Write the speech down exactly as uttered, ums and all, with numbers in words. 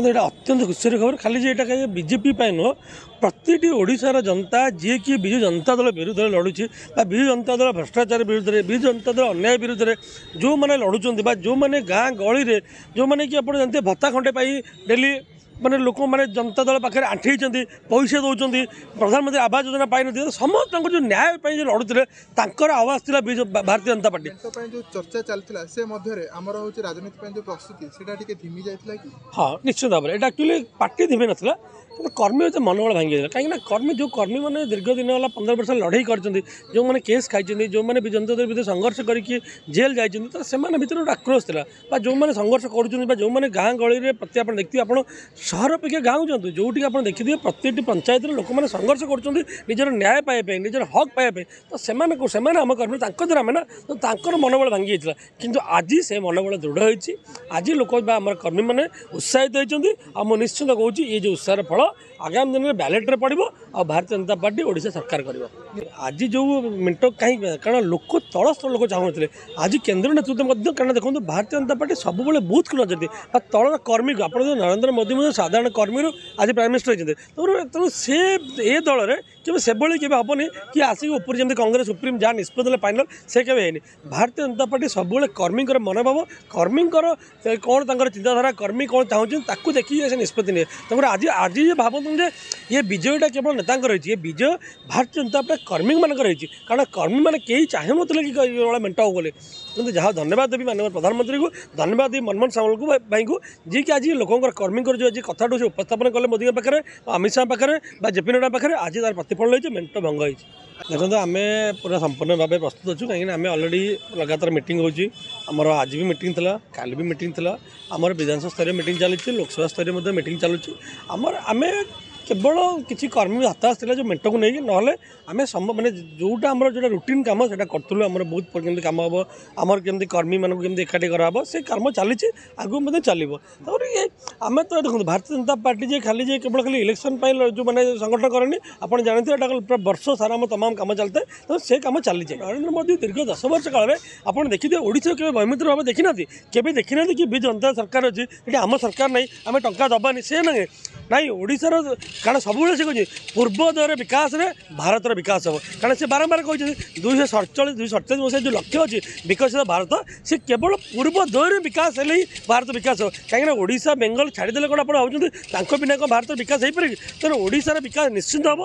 ଏଇଟା ଅତ୍ୟନ୍ତ ଖୁସିର ଖବର। ଖାଲି ଯେ ଏଇଟା କାହିଁ ବିଜେପି ପାଇଁ ନୁହଁ, ପ୍ରତିଟି ଓଡ଼ିଶାର ଜନତା ଯିଏକି ବିଜୁ ଜନତା ଦଳ ବିରୁଦ୍ଧରେ ଲଢ଼ୁଛି ବା ବିଜୁ ଜନତା ଦଳ ଭ୍ରଷ୍ଟାଚାର ବିରୁଦ୍ଧରେ, ବିଜୁ ଜନତା ଦଳ ଅନ୍ୟାୟ ବିରୁଦ୍ଧରେ ଯେଉଁମାନେ ଲଢ଼ୁଛନ୍ତି ବା ଯେଉଁମାନେ ଗାଁ ଗହଳିରେ ଯେଉଁମାନେ କି ଆପଣ ଜାଣିଥିବେ ଭତ୍ତା ଖଣ୍ଡେ ପାଇ ଡେଲି ମାନେ ଲୋକମାନେ ଜନତା ଦଳ ପାଖରେ ଆଣ୍ଠେଇଛନ୍ତି, ପଇସା ଦେଉଛନ୍ତି, ପ୍ରଧାନମନ୍ତ୍ରୀ ଆବାସ ଯୋଜନା ପାଇନଥିଲେ, ସମସ୍ତଙ୍କର ଯେଉଁ ନ୍ୟାୟ ପାଇଁ ଯେଉଁ ଲଢ଼ୁଥିଲେ ତାଙ୍କର ଆୱାଜ ଥିଲା ବିଜୁ ଭାରତୀୟ ଜନତା ପାର୍ଟି। ମେଣ୍ଟ ପାଇଁ ଯେଉଁ ଚର୍ଚ୍ଚା ଚାଲିଥିଲା ସେ ମଧ୍ୟରେ ଆମର ହେଉଛି ରାଜନୀତି ପାଇଁ ଯେଉଁ ପ୍ରସ୍ତୁତି ସେଇଟା ଟିକେ ଧିମି ଯାଇଥିଲା କି? ହଁ, ନିଶ୍ଚିତ ଭାବରେ ଏଇଟା ଆକ୍ଚୁଆଲି ପାର୍ଟି ଧିମି ନଥିଲା, କିନ୍ତୁ କର୍ମୀ ଏତେ ମନୋବଳ ଭାଙ୍ଗି ଯାଇଥିଲା। କାହିଁକିନା କର୍ମୀ ଯେଉଁ କର୍ମୀମାନେ ଦୀର୍ଘ ଦିନ ହେଲା ପନ୍ଦର ବର୍ଷ ଲଢ଼େଇ କରିଛନ୍ତି, ଯେଉଁମାନେ କେସ୍ ଖାଇଛନ୍ତି, ଯେଉଁମାନେ ବି ଜନତା ଦଳ ଭିତରେ ସଂଘର୍ଷ କରିକି ଜେଲ୍ ଯାଇଛନ୍ତି, ତ ସେମାନେ ଭିତରେ ଗୋଟେ ଆକ୍ରୋଶ ଥିଲା। ବା ଯେଉଁମାନେ ସଂଘର୍ଷ କରୁଛନ୍ତି ବା ଯେଉଁମାନେ ଗାଁ ଗହଳିରେ ପ୍ରତି ଆପଣ ଦେଖିଥିବେ, ଆପଣ ସହର ଅପେକ୍ଷା ଗାଁକୁ ଯାଆନ୍ତୁ, ଯେଉଁଠିକି ଆପଣ ଦେଖିଥିବେ ପ୍ରତିଟି ପଞ୍ଚାୟତରେ ଲୋକମାନେ ସଂଘର୍ଷ କରୁଛନ୍ତି ନିଜର ନ୍ୟାୟ ପାଇବା ପାଇଁ, ନିଜର ହକ୍ ପାଇବା ପାଇଁ। ତ ସେମାନଙ୍କୁ ସେମାନେ ଆମ କର୍ମୀ, ତାଙ୍କ ଦ୍ୱାରା ଆମେ ନା, ତ ତାଙ୍କର ମନୋବଳ ଭାଙ୍ଗି ଯାଇଥିଲା। କିନ୍ତୁ ଆଜି ସେ ମନୋବଳ ଦୃଢ଼ ହୋଇଛି। ଆଜି ଲୋକ ବା ଆମର କର୍ମୀମାନେ ଉତ୍ସାହିତ ହୋଇଛନ୍ତି। ଆଉ ମୁଁ ନିଶ୍ଚିତ କହୁଛି ଏ ଯେଉଁ ଉତ୍ସାହର ଫଳ ଆଗାମୀ ଦିନରେ ବ୍ୟାଲେଟ୍ରେ ପଡ଼ିବ ଆଉ ଭାରତୀୟ ଜନତା ପାର୍ଟି ଓଡ଼ିଶା ସରକାର କରିବ। ଆଜି ଯେଉଁ ମେଣ୍ଟ କାହିଁକି? କାରଣ ଲୋକ ତଳ ସ୍ତର ଲୋକ ଚାହୁଁନଥିଲେ। ଆଜି କେନ୍ଦ୍ର ନେତୃତ୍ୱ ମଧ୍ୟ, କାରଣ ଦେଖନ୍ତୁ ଭାରତୀୟ ଜନତା ପାର୍ଟି ସବୁବେଳେ ବୁଥକୁ ନଜର ଦିଏ ବା ତଳର କର୍ମୀକୁ। ଆପଣ ଯେଉଁ ନରେନ୍ଦ୍ର ମୋଦି ମଧ୍ୟ ସାଧାରଣ କର୍ମୀରୁ ଆଜି ପ୍ରାଇମ୍ ମିନିଷ୍ଟର ହେଇଛନ୍ତି। ତେଣୁ ତେଣୁ ସେ ଏ ଦଳରେ କେବେ ସେଭଳି କେବେ ହେବନି କି ଆସିକି ଉପରେ ଯେମିତି କଂଗ୍ରେସ ସୁପ୍ରିମ ଯାହା ନିଷ୍ପତ୍ତି ଦେଲେ ଫାଇନାଲ୍, ସେ କେବେ ହେଇନି। ଭାରତୀୟ ଜନତା ପାର୍ଟି ସବୁବେଳେ କର୍ମୀଙ୍କର ମନୋଭାବ, କର୍ମୀଙ୍କର କ'ଣ ତାଙ୍କର ଚିନ୍ତାଧାରା, କର୍ମୀ କ'ଣ ଚାହୁଁଛନ୍ତି ତାକୁ ଦେଖିକି ସେ ନିଷ୍ପତ୍ତି ନିଏ। ତେଣୁ ଆଜି ଆଜି ଯେ ଭାବନ୍ତୁ ଯେ ଇଏ ବିଜୟଟା କେବଳ ନେତାଙ୍କର ହେଇଛି, ଏ ବିଜୟ ଭାରତୀୟ ଜନତା ପାର୍ଟି କର୍ମୀମାନଙ୍କର ହେଇଛି। କାରଣ କର୍ମୀମାନେ କେହି ଚାହୁଁନଥିଲେ କି ଏଭଳିଆ ମେଣ୍ଟ ହେବ ବୋଲି। କିନ୍ତୁ ଯାହା ଧନ୍ୟବାଦ ଦେବି ମାନ୍ୟବର ପ୍ରଧାନମନ୍ତ୍ରୀଙ୍କୁ, ଧନ୍ୟବାଦ ଦେବି ମନମୋହନ ସାମଲଙ୍କୁ ଭାଇଙ୍କୁ, ଯିଏକି ଆଜି ଲୋକଙ୍କର କର୍ମୀଙ୍କର ଯେଉଁ ଆଜି କଥାଠୁ ସେ ଉପସ୍ଥାପନ କଲେ ମୋଦିଙ୍କ ପାଖରେ, ଅମିତ ଶାହା ପାଖରେ ବା ଜେପି ନଡ୍ଡା ପାଖରେ, ଆଜି ତାର ପ୍ରତିଫଳନ ହେଇଛି, ମେଣ୍ଟ ଭଙ୍ଗ ହେଇଛି। ଦେଖନ୍ତୁ, ଆମେ ପୁରା ସମ୍ପୂର୍ଣ୍ଣ ଭାବେ ପ୍ରସ୍ତୁତ ଅଛୁ। କାହିଁକିନା ଆମେ ଅଲରେଡ଼ି ଲଗାତାର ମିଟିଂ ହେଉଛି। ଆମର ଆଜି ବି ମିଟିଂ ଥିଲା, କାଲି ବି ମିଟିଂ ଥିଲା। ଆମର ବିଧାନସଭା ସ୍ତରୀୟ ମିଟିଂ ଚାଲିଛି, ଲୋକସଭା ସ୍ତରୀୟ ମଧ୍ୟ ମିଟିଂ ଚାଲୁଛି। ଆମର ଆମେ କେବଳ କିଛି କର୍ମୀ ହତାଶ ଥିଲା ଯେଉଁ ମେଣ୍ଟକୁ ନେଇକି, ନହେଲେ ଆମେ ସମ ମାନେ ଯେଉଁଟା ଆମର ଯେଉଁଟା ରୁଟିନ୍ କାମ ସେଇଟା କରୁଥିଲୁ। ଆମର ବହୁତ କେମିତି କାମ ହେବ, ଆମର କେମିତି କର୍ମୀମାନଙ୍କୁ କେମିତି ଏକାଠି କରାହେବ, ସେ କାମ ଚାଲିଛି, ଆଗକୁ ମଧ୍ୟ ଚାଲିବ। ତାପରେ ଇଏ ଆମେ ତ ଦେଖନ୍ତୁ ଭାରତୀୟ ଜନତା ପାର୍ଟି ଯେ ଖାଲି ଯେ କେବଳ ଖାଲି ଇଲେକ୍ସନ୍ ପାଇଁ ଯେଉଁମାନେ ସଂଗଠନ କରେନି, ଆପଣ ଜାଣିଥିବେ ଏଇଟା ପୁରା ବର୍ଷ ସାରା ଆମ ତମାମ କାମ ଚାଲିଥାଏ। ତ ସେ କାମ ଚାଲିଛି। ନରେନ୍ଦ୍ର ମୋଦି ଦୀର୍ଘ ଦଶ ବର୍ଷ କାଳରେ ଆପଣ ଦେଖିଥିବେ ଓଡ଼ିଶାକୁ କେବେ ବୈମିତ୍ର ଭାବେ ଦେଖିନାହାନ୍ତି, କେବେ ଦେଖିନାହାନ୍ତି କି ବିଜୁ ଜନତା ସରକାର ଅଛି ଏଠି, ଆମ ସରକାର ନାହିଁ, ଆମେ ଟଙ୍କା ଦେବାନି, ସେ ନାହିଁ ନାଇଁ ଓଡ଼ିଶାର। କାରଣ ସବୁବେଳେ ସେ କହୁଛି ପୂର୍ବୋଦୟର ବିକାଶରେ ଭାରତର ବିକାଶ ହେବ। କାରଣ ସେ ବାରମ୍ବାର କହିଛନ୍ତି ଦୁଇଶହ ସଡ଼ଚାଳିଶ ଦୁଇଶହ ସଡ଼ଚାଳିଶ ମସିହା ଯେଉଁ ଲକ୍ଷ୍ୟ ଅଛି ବିକଶିତ ଭାରତ, ସେ କେବଳ ପୂର୍ବୋଦୟରେ ବିକାଶ ହେଲେ ହିଁ ଭାରତ ବିକାଶ ହେବ। କାହିଁକିନା ଓଡ଼ିଶା ବେଙ୍ଗଲ ଛାଡ଼ିଦେଲେ କ'ଣ ଆପଣ ଭାବୁଛନ୍ତି ତାଙ୍କ ବିନା କ'ଣ ଭାରତର ବିକାଶ ହେଇପାରେ କି? ତେଣୁ ଓଡ଼ିଶାର ବିକାଶ ନିଶ୍ଚିନ୍ତ ହେବ।